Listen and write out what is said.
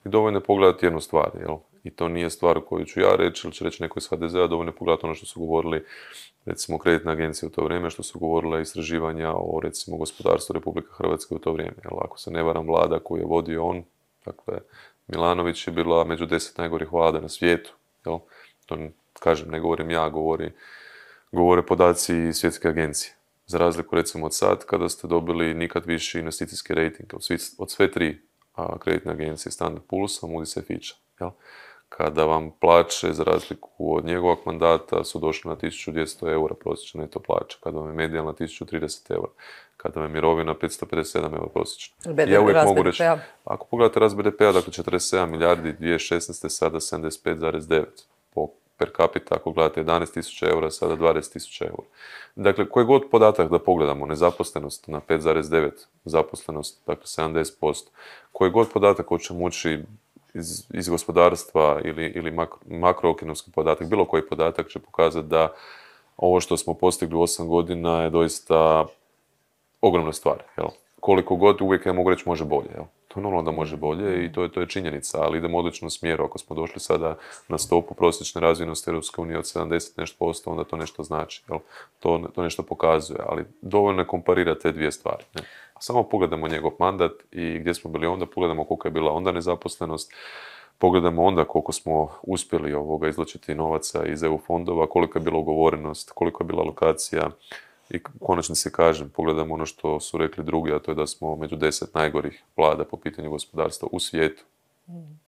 I dovoljno je pogledati jednu stvar, jel? I to nije stvar koju ću ja reći ili će reći neko iz HDZ-a, dovoljno je pogledati ono što su govorili recimo kreditne agencije u to vrijeme, što su govorile istraživanja o recimo gospodarstvu Republike Hrvatske u to vrijeme. Jel? Ako se ne varam, vlada koju je vodio on, dakle Milanović, je bila među 10 najgorih vlada na svijetu. Jel? To kažem, ne govorim ja, govore podaci iz svjetske agencije. Za razliku recimo od sad, kada ste dobili nikad viši investicijski rejting od sve tri kreditne agencije, Standard Poor's, Moody's i Fitcha. Jel? Kada vam plaće, za razliku od njegovog mandata, su došle na 1200 eura prosječna neto plaća, kada vam je medijalna 1030 eura, kada vam je mirovina 557 eura prosječna. Ja uvijek mogu reći, ako pogledate rast BDP-a, dakle 47 milijardi 2016. sada 75,9 per capita, ako gledate 11.000 eura, sada 20.000 eura. Dakle, koji god podatak da pogledamo, nezaposlenost na 5,9, zaposlenost, dakle 70%, koji god podatak hoćemo ući iz gospodarstva ili makroekonomski podatak, bilo koji podatak će pokazati da ovo što smo postigli u 8 godina je doista ogromna stvar. Jel? Koliko god, uvijek ja mogu reći može bolje. Jel? To je normalno da može bolje i to je činjenica, ali idemo u odličnom smjeru. Ako smo došli sada na stopu prosječne razvijenosti Europske unije od 70 nešto posto, onda to nešto znači. Jel? To nešto pokazuje, ali dovoljno je komparirati te dvije stvari. Ne? Samo pogledamo njegov mandat i gdje smo bili onda, pogledamo koliko je bila onda nezaposlenost, pogledamo onda koliko smo uspjeli izvlačiti novaca iz EU fondova, koliko je bila ugovorenost, koliko je bila alokacija i u konačnici kažem, pogledamo ono što su rekli drugi, a to je da smo među 10 najgorih vlada po pitanju gospodarstva u svijetu.